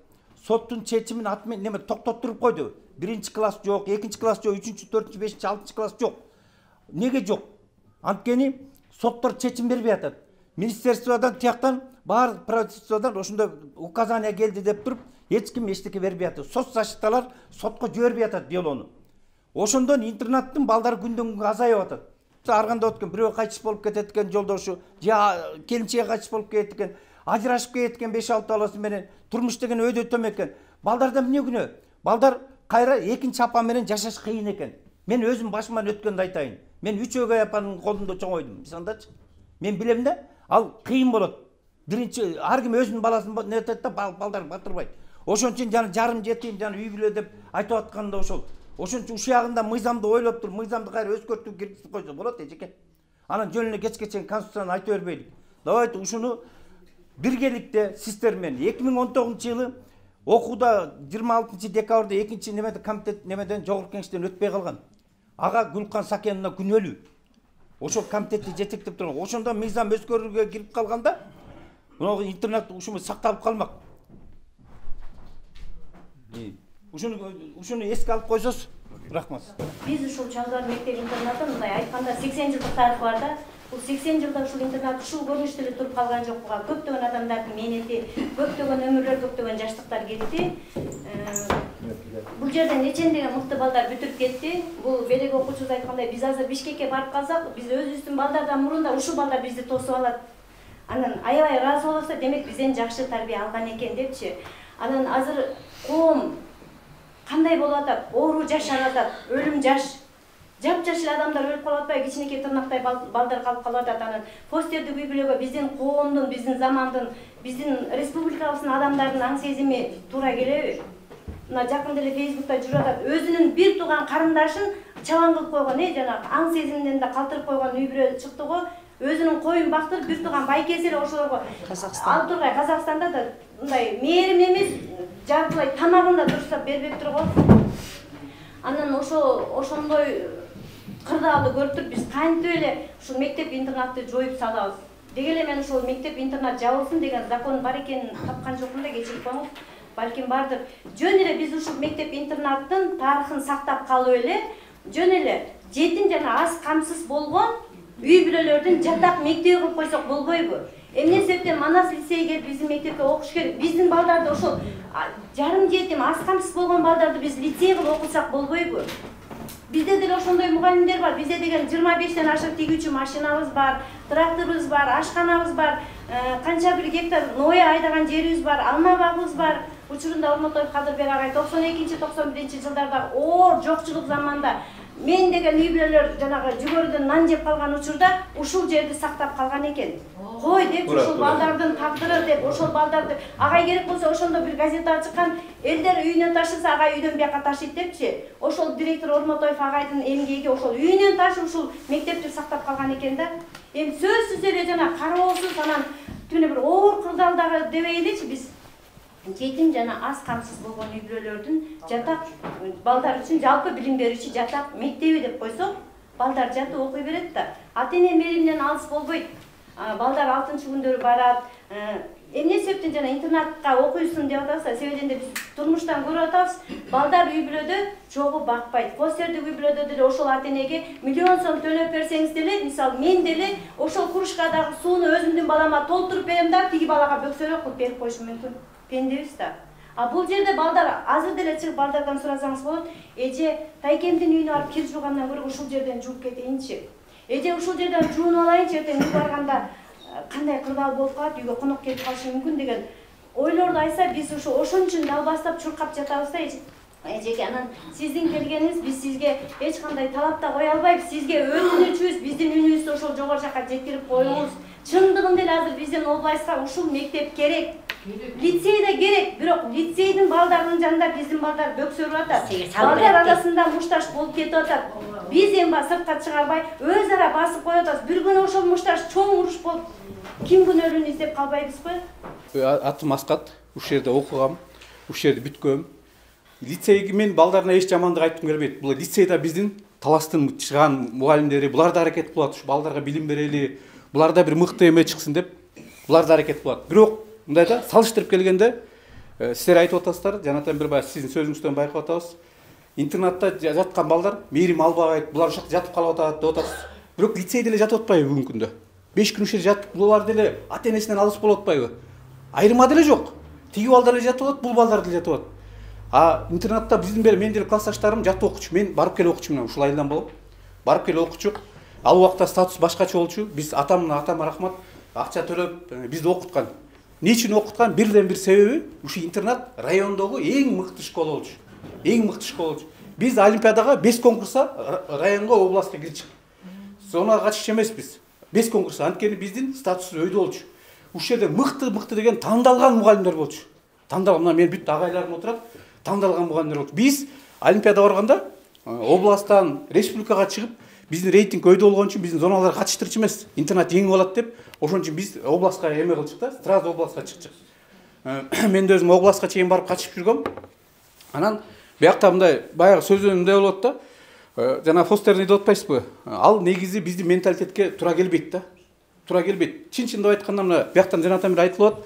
Соттун чечимин атмен неме токтоттуруп койду. Биринчи класс жок, экинчи класс жок, үчүнчү, төртүнчү, бешинчи, алтынчы класс жок. Неге жок? Анткени соттор чечим бербей атат. Министерстводон тияктан бар правительстводон ошондой указание келди деп туруп, эч ким эчтеке бербей атат. Соцзащиталар сотко жибербей атат делону. Ошондон интернаттын балдары күндөн күнгө азайып атат. Ар кандай өткөн бирөө кайтыш болуп кетет экен жолдошу, же келинчеги кайтыш болуп кетет экен, ажырашып кетет экен беш алты баласы менен, турмуш деген өйдө төм экен. Балдарда эмне күнөө? Балдар кайра экинчи апа менен жашаш кыйын экен. Мен өзүм башыман өткөндү айтайын. Мен үч өгөй апанын колунда чоңойдум. Биз андачы. Мен билем да, ал кыйын болот. Биринчи ар ким өзүнүн баласын нетет да, балдар батырбайт. Ошон үчүн жана жарым жетим, жана үй бүлө деп айтып атканда ошол. Ошон үчүн ушул ягында мыйзамды ойлоп туруп, мыйзамды кайра өзгөртүп киргизип койсо болот эжеке. Анан жөн эле кечке чейин конституцияны айта бербейлик. Давайте ушуну биргеликте сиздер менен эки миң он тогузунчу жылы окууда жыйырма алтынчы декабрда экинчи немеде комитет немеден жогорку кеңештен өтпөй калган. Ага Гүлкан Сакеновна күнөөлүү. Ошол комитетти жетектеп турган. Ошондо мыйзам өзгөрүүгө кирип калганда, мына интернет ушуну сакталып калмак. Ушуну ушуну эске алып койсоз, рахмат. Биз ушул Чалдыбар мектеп интернаты мындай айтканда сексен жылдык тарыхы бар да. Бул сексен жылда ушул интернат ушул көрүнүштө эле туруп калган жок. Буга көптөгөн адамдардын мээнети, көптөгөн өмүрлөр, көптөгөн жаштыктар кетти. Бул жерден нечендеген мыкты балдар бүтүрүп кетти. Бул белек окуучубуз айткандай, биз азыр Бишкекке барып калсак, биз өзүбүздүн балдардан мурун да ушул балдар бизди тосуп алат. Анан аябай ыраазы болобуз, демек бизден жакшы тарбия алган экен депчи. Анан азыр коом кандай болуп атат? Оору жаш аралатат, өлүм жаш. Жап-жаш эле адамдар өлүп калып атпайбы? Кичинекей тырнактай балдар калып калып атат. Анан постердик үй бүлөгө биздин коомдун, биздин замандын, биздин республикабыздын адамдарынын аң сезими туура келеби? Мына жакында эле Фейсбукта жүрүп атат. Өзүнүн бир тууган карындашын чалаң кылып койгон, э, жана аң сезимден да калтырып койгон үй бүлө чыкты го. Өзүнүн коюн бактырып, бир тууган байкеси эле ошолорго Казакстан. Ал тургай Казакстанда да мындай мээрим эмес, жартылай тамагын да дурустап бербептир го. Анан ошо ошондой кырдаалды көрүп туруп биз кантип эле ушул мектеп интернатты жоюп салабыз. Деги эле мен ошол мектеп интернат жабылсын деген закон бар экенин тапкан жокмун да, кечирип коюңуз. Балким бардыр. Жөн эле биз ушул мектеп интернаттын тарыхын сактап калып эле, жөн эле жетим жана аз камсыз болгон үй бүлөлөрдүн жатак мектеби кылып койсок болбойбу? Эмне себептен Манас лицейге келип биздин мектепке окуш керек? Биздин балдарды ошол жарым жетим, аз камсыз болгон балдарды биз лицей кылып окутсак болбойбу? Бизде деле ошондой мугалимдер бар. Бизде деген жыйырма бештен ашык тигүүчү машинабыз бар, тракторубуз бар, ашканабыз бар, канча бир гектар ное айдаган жерибиз бар, алма багыбыз бар. Учурунда Ормотоев Кадырбек агай токсон экинчи токсон биринчи жылдарда оор жокчулук заманда мен деген үй бүлөлөр жанагы жүгөрүдөн нан жеп калган учурда ушул жерди сактап калган экен. Кой деп ушул балдардын тагдыры деп ошол бaldарды агай керек болсо ошондо бир газета чыккан, элдер үйүнөн ташыса агай үйдөн бияка ташыйт депчи. Ошол директор Ормотоев агайдын эмгеги ошол үйүнөн ташып ушул мектепти сактап калган экен да. Эми сөзсүз эле жана кароосуз анан түнү бир оор кырдаалдагы дебейличи биз жетим жана аз камсыз болгон үй бүлөлөрдүн жатак балдар үчүн жалпы билим берүүчү жатак мектеби деп койсок, балдар жатып окуй берет да. Ата-эне мээримден алыс болбойт. Балдар алтынчы күндөрү барат. Эмне себептен жана интернатка окуйсун деп атабыз, себебинде биз турмуштан көрүп атабыз. Балдар үй бүлөдө чогуу бакпайт. Постердик үй бүлөдө деле ошол ата-энеге миллион сом төлөп берсеңиз деле, мисалы мен деле ошол кружкадагы сууну өзүмдүн балама толтуруп берем да, тиги балага бөксөрөк кылып берип коюшум мүмкүн. Пендебиз да. А бул жерде балдар азыр деле чыгып балдардан сурасаңыз болот. Эже тайкемдин үйүнө барып кир жуугандан көрө ушул жерден жууп кетейинчи. Эже ушул жерден жуунуп алайынчы, эртең үй барганда кандай кырдаал болуп калат, үйгө конок келип калышы мүмкүн деген ойлорду айтса, биз ушу ошон үчүн далбастап чуркап жатабыз да. Эжеке, анан сиздин келгениңиз, биз сизге эч кандай талап да кое албайбыз. Сизге өтүнүчүбүз, биздин үнүбүздү ошол жогору жака жеткирип коюңуз. Чындыгында эле азыр биздин областка ушул мектеп керек. Лицей да керек, бирок лицейдин балдарынын жанында биздин балдар бөксөрүп атат. Балдар арасында мушташ болуп кетип атат. Биз эми сыртка чыгарбай, өз ара басып коюп атабыз. Бир күнү ошол мушташ чоң уруш болуп, ким күнөөлүүнү издеп калбайбызбы? Атым Аскат, ушул жерде окугам, ушул жерде бүткөм. Лицейге мен балдарына эч жамандык айткым келбейт. Бул лицейда биздин таластын чыган мугалимдери, булар да аракет кылат, ушу балдарга билим берели, булар да бир мыкты эме чыксын деп, булар да аракет кылат. Бирок мындай да салыштырып келгенде, сиздер айтып атасыздар, жанатан бир бай сиздин сөзүңүздөн байкап атабыз. Интернатта жаткан балдар мээрим албайт, булар ушакта жатып калып атат деп атасыз. Бирок лицейде эле жатып атпайбы бүгүнкү күндө? беш күн ушул жатып, булар деле ата-энесинен алыс болуп атпайбы? Айырма деле жок. Тиги балдар эле жатып атат, бул балдар деле жатып атат. А интернатта биздин бери мен деле классташтарым жат окучу, мен барып келип окучу, мына ушул айылдан болуп барып келип окучу. Ал убакта статус башкача болчу. Биз атам атама рахмат акча төлөп бизди окуткан. Эмне үчүн окуткан? Бирден бир себеби ушу интернат райондогу эң мыкты школа болчу. Эң мыкты школа болчу. Биз олимпиадага беш конкурса районго, областка кирчик. Сонага катышчу эмеспиз. беш конкурса, анткени биздин статусубуз өйдө болчу. Ушул жерде мыкты мыкты деген тандалган мугалимдер болчу. Тандалган, мына мен бүт агайларым отурат, тандалган мугалимдер болчу. Биз олимпиада барганда областтан республикага чыгып, биздин рейтинг өйдө болгон үчүн биздин зоналарга катыштырчу эмес. Интернат жеңип алат деп, ошон үчүн биз областка эме кылчык да, сразу областка чыкчык. Мен да өзүм областка чейин барып катышып жүргөм. Анан биякта мындай баягы сөзүн мындай болот да. Жана Фостерни деп атпайсызбы? Ал негизи биздин менталитетке туура келбейт да. Туура келбейт. Чын-чындап айтканда мына бияктан жанатан бир айтылып атат.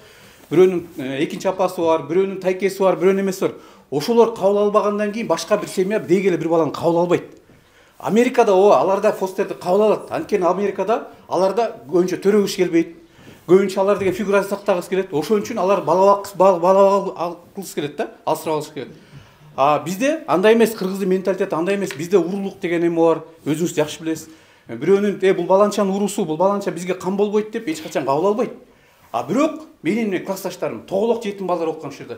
Бирөөнүн экинчи апасы бар, бирөөнүн тайкеси бар, бирөөнүн эмеси бар. Ошолор кабыл албагандан кийин башка бир семья деги эле бир баланы кабыл албайт. Америкада ооба, аларда фостерди кабыл алат. Анткени Америкада аларда көбүнчө төрөгүш келбейт. Көбүнчө алар деген фигура сактагысы келет. Ошон үчүн алар бала бала алгысы келет да, алсырап алыш келет. А бизде андай эмес, кыргыздын менталитети андай эмес. Бизде уруулук деген эме бар. Өзүңүз жакшы билесиз. Бирөөнүн "Э, бул баланчанын уруусу, бул баланча бизге кам болбойт" деп эч качан кабыл албайт. А бирок менин классташтарым тоголок жетим балдар окуган ушул жерде.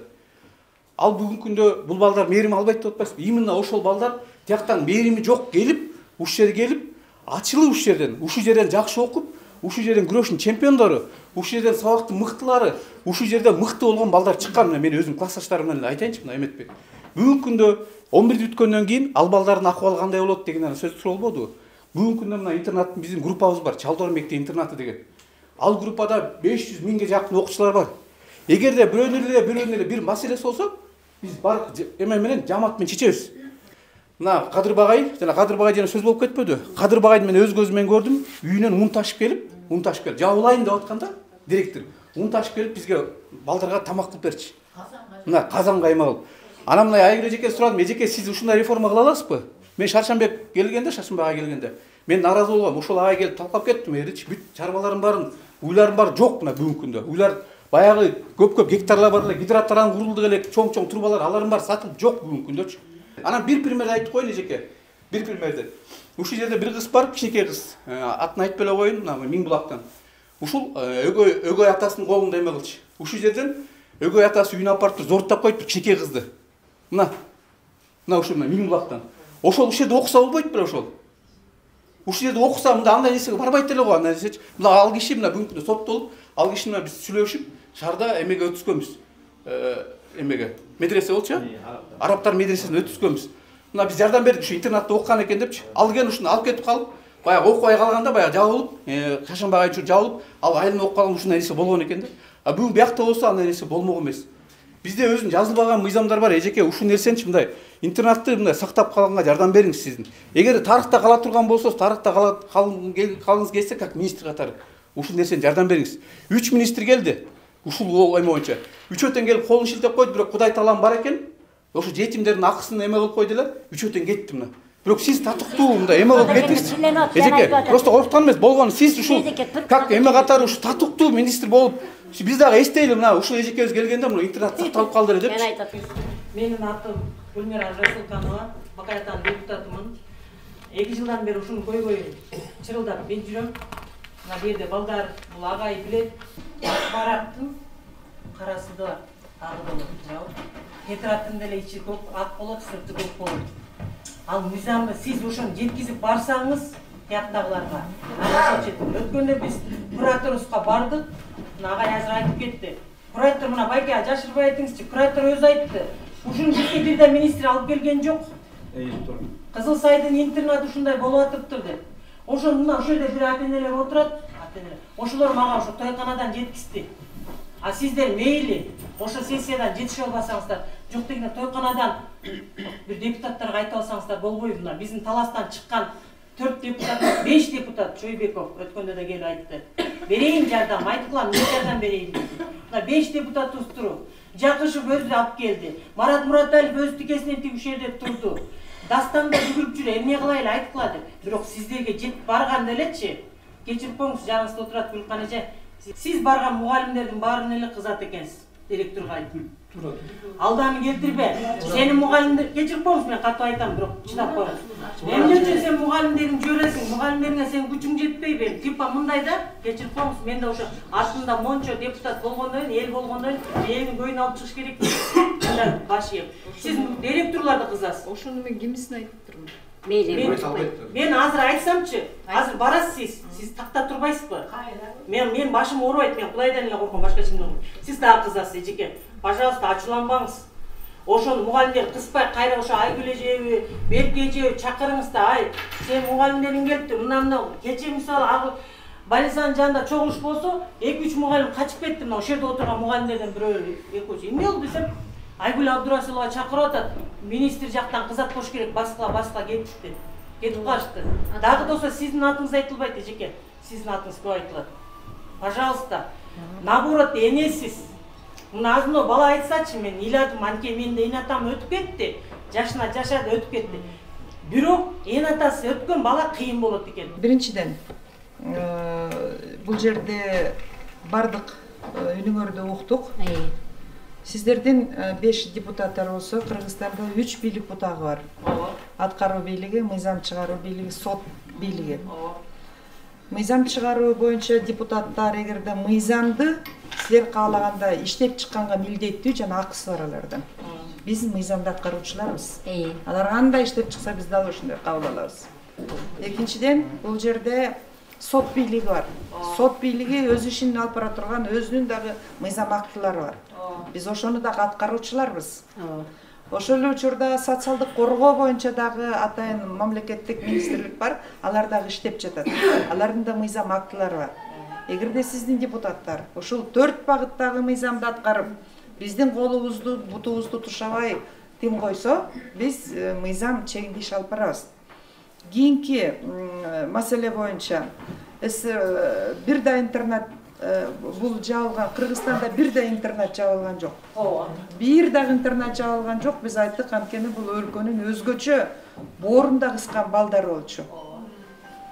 Ал бүгүнкү күндө бул балдар мээрим албайт деп атпайсызбы? Именно ошол балдар тияктан мээрими жок келип, ушул жерге келип, ачылып ушул жерден, ушул жерден жакшы окуп, ушул жерден күрөштүн чемпиондору, ушул жерден сабактын мыктылары, ушул жерде мыкты болгон балдар чыккан. Мен өзүм классташтарым менен айтайынчы, мына эметпей. Бүгүнкү күндө он бирди бүткөндөн кийин ал балдардын акыбалы кандай болот деген сөз суралбодубу? Бүгүнкү күндө мына интернаттын биздин группабыз бар, Чалдор мектеп интернаты деген. Ал группада беш жүз миңге жакын окуучулар бар. Эгерде бирөөнүн эле бирөөнүн эле бир маселеси болсо, биз бар эме менен жамаат менен чечебиз. Мына Кадыр Багай, жана Кадыр Багай жана сөз болуп кетпөдү? Кадыр Багайды мен өз көзүм менен көрдүм. Үйүнөн ун ташып келип, ун ташып келип, жабылайын деп атканда, директор ун ташып келип бизге балдарга тамак кылып берчи. Мына казан кайма кылып. Анан мына Айгүл эжеке сурадым, эжеке сиз ушундай реформа кыла аласызбы? Мен Шаршанбек келгенде, Шаршанбек ага келгенде, мен наразы болгом. Ошол ага келип талкап кеттим. Эрич бүт чарбаларым барын, уйларым бар жок мына бүгүнкү күндө. Уйлар баягы көп-көп гектарлар бар эле, гидроаттардан курулду эле, чоң-чоң трубалар, аларым бар сатылып жок бүгүнкү күндөчү. Анан бир пример айтып коеюн эжеке. Бир примерди. Ушул жерде бир кыз бар, кичинекей кыз. Атын айтып эле коеюн, мына Миңбулактан. Ушул өгөй өгөй атасынын колунда эме кылчу. Ушул жерден өгөй атасы үйүнө апарып туруп зоруттап коюп бир кичинекей кызды. Мына. Мына ушул Миңбулактан. Ошол ушул жерде окуса болбойт беле ошол. Ушул жерде окуса мында андай нерсеге барбайт эле го, андай нерсечи. Мына ал киши мына бүгүнкү күндө соттолуп, ал киши менен биз сүйлөшүп, шаарда эмеге өткөзгөнбүз. Эмеге медресе болчу, арабтар медресесине өткөзгөнбүз. Мына биз жардам бердик, ушу интернатта окуган экен депчи. Ал келген ушуну алып кетип калып, баягы окубай калганда баягы жабылып, Шашанбек айчу жабылып, ал айылына окуп калган ушундай нерсе болгон экен да. А бүгүн биякта болсо андай нерсе болмок эмес. Бизде өзүнүн жазылбаган мыйзамдар бар. Эжеке ушул нерсеничи мындай интернатты мындай сактап калганга жардам бериңиз сиздин. Эгер тарыхта кала турган болсоңуз, тарыхта калгыңыз келсе, как министр катары ушул нерсени жардам бериңиз. үч министр келди. Ушул эме боюнча. Үчөөтөн келип колун шилтеп койду, бирок Кудай таалам бар экен. Ошо жетимдердин акысын эме кылып койду эле. Үчөөтөн кетти мына. Бирок сиз татыктуу мындай эме кылып кеттиңиз. Эжеке, просто короктон эмес, болгон сиз ушул как эме катары ушул татыктуу министр болуп, биз дагы эстейли мына ушул эжекебиз келгенде мына интернат сакталып калды эле депчи. Менин атым Гүлмира Расулканова, Бакай атанын депутатымын. эки жылдан бери ушуну көйгөйүн чырылдап мен жүрөм. Мына бу жерде балдар, бул агай билет. Барактын карасы да агы болот. Тетраттын деле ичи көк ак болот, сырты көк болот. Ал мыйзамды сиз ошону жеткизип барсаңыз, тияктагыларга. Өткөндө биз кураторубузга бардык. Мына агай азыр айтып кетти. Куратор мына байке жашырбай айтыңызчы. Куратор өзү айтты. Ушуну бизге бир да министр алып келген жок. Кызыл Сайдын интернаты ушундай болуп атыптыр деп. Ошону мына ошол жерде бир ата-энелер отурат. Ошолор мага ошо тойканадан жеткизди. А сиздер мейли ошо сессиядан жетише албасаңыздар, жок дегенде тойканадан бир депутаттарга айтып алсаңыздар болбойбу? Мына биздин таластан чыккан төрт депутат, беш депутат Чойбеков өткөндө да келип айтты. Берейин жардам, айткылам, мен жардам берейин деди. Мына беш депутатыбыз туруп, Жакышев өзү алып келди. Марат Мураталиев өз тикесинен тиги ушул жерде турду. Дастанда бүгүлүп жүрө, эмне кылайлы айткыла деп. Бирок сиздерге жетип барганда элечи, кечирип коюңуз, жаныңызда отурат Гүлкан эже. Сиз барган мугалимдердин баарын эле кызат экенсиз, директорго айтып. Алданы келтирбе. Сенин мугалимдер кечирип коюңуз, мен катуу айтам, бирок чыдап коюңуз. Эмне үчүн сен мугалимдерин жибересиң? Мугалимдериңе сен күчүң жетпейби? Типа мындай да, кечирип коюңуз. Мен да ошо артында мончо депутат болгондон кийин, эл болгондон кийин элдин көйүн алып чыгыш керек. Мындай баш ийем. Сиз директорлорду кызасыз. Ошону мен кимисин айтып турмун? Мен азыр айтсамчы, азыр барасыз сиз, сиз такта турбайсызбы? Мен мен башым оорубайт, мен Кудайдан эле корком, башка эчимден корком. Сиз дагы кызасыз, эжеке. Пожалуйста, ачууланбаңыз. Ошону мугалимдер кыспай кайра ошо Айгүл эжеби, Берке эжеби чакырыңыз да, ай, сен мугалимдериң келипти, мына мына кече мисалы больницанын жанында чогулуш болсо, эки үч мугалим качып кетти, мына ошол жерде отырган мугалимдерден бирөө, экөөсү. Эмне болду десем, Айгүл Абдурасулова чакырып атат, министр жактан кызаткош керек, баскыла баскыла кетишти. Кетип калышты. Дагы да болсо сиздин атыңыз айтылбайт, эжеке. Сиздин атыңыз көп айтылат. Пожалуйста, наоборот, энесиз. Мына азыр бала айтсачы, мен ыйладым, анткени менин эне атам өтүп кетти. Жашына жашады, өтүп кетти. Бирок эне атасы өткөн бала кыйын болот экен. Биринчиден, бул жерде бардык үнүңөрдү уктук. Сиздердин беш депутаттар болсо, Кыргызстанда үч бийлик бутагы бар. Аткаруу бийлиги, мыйзам чыгаруу бийлиги, сот бийлиги. Мыйзам чыгаруу боюнча депутаттар эгерде мыйзамды силер каалаганда иштеп чыкканга милдеттүү жана акысы бар алардан. Биз мыйзамды аткаруучуларбыз. Алар кандай иштеп чыкса биз дал ошондой кабыл алабыз. Экинчиден, бул жерде сот бийлиги бар. Сот бийлиги өз ишин алып бара турган өзүнүн дагы мыйзам актылары бар. Биз ошону дагы аткаруучуларбыз. Ошол эле учурда социалдык коргоо боюнча дагы атайын мамлекеттик министрлик бар, алар дагы иштеп жатат. Алардын да мыйзам актылары бар. Эгерде сиздин депутаттар ушул төрт багыттагы мыйзамды аткарып, биздин колубузду, бутубузду тушабай тим койсо, биз мыйзам чегинде иш алып барабыз. Кийинки маселе боюнча бир да интернет бул жабылган, Кыргызстанда бир да интернет жабылган жок. Бир дагы интернет жабылган жок. Биз айттык, анткени бул өлкөнүн өзгөчө боорунда кыскан балдары болчу.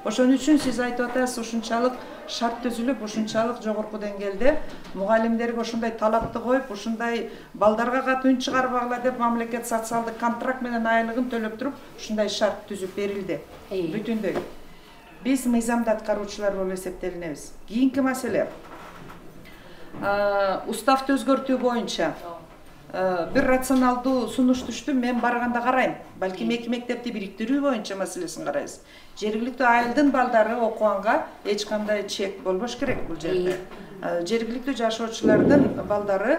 Ошон үчүн сиз айтып атасыз, ушунчалык шарт түзүлүп, ушунчалык жогорку деңгээлде мугалимдерге ошондой талапты коюп, ушундай балдарга кат үн чыгарбагыла деп мамлекет социалдык контракт менен айлыгын төлөп туруп, ушундай шарт түзүп берилди. Бүтүндөй. Биз мыйзамды аткаруучулар болуп эсептелинебиз. Кийинки маселе. Уставды өзгөртүү боюнча бир рационалдуу сунуш түштү, мен барганда карайм. Балким эки мектепти бириктирүү боюнча маселесин карайбыз. Жергиликтүү айылдын балдары окуганга эч кандай чек болбош керек бул жерде. Жергиликтүү жашоочулардын балдары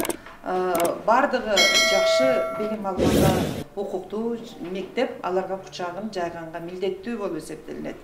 бардыгы жакшы билим алганга укуктуу мектеп аларга кучагын жайганга милдеттүү болуп эсептелинет.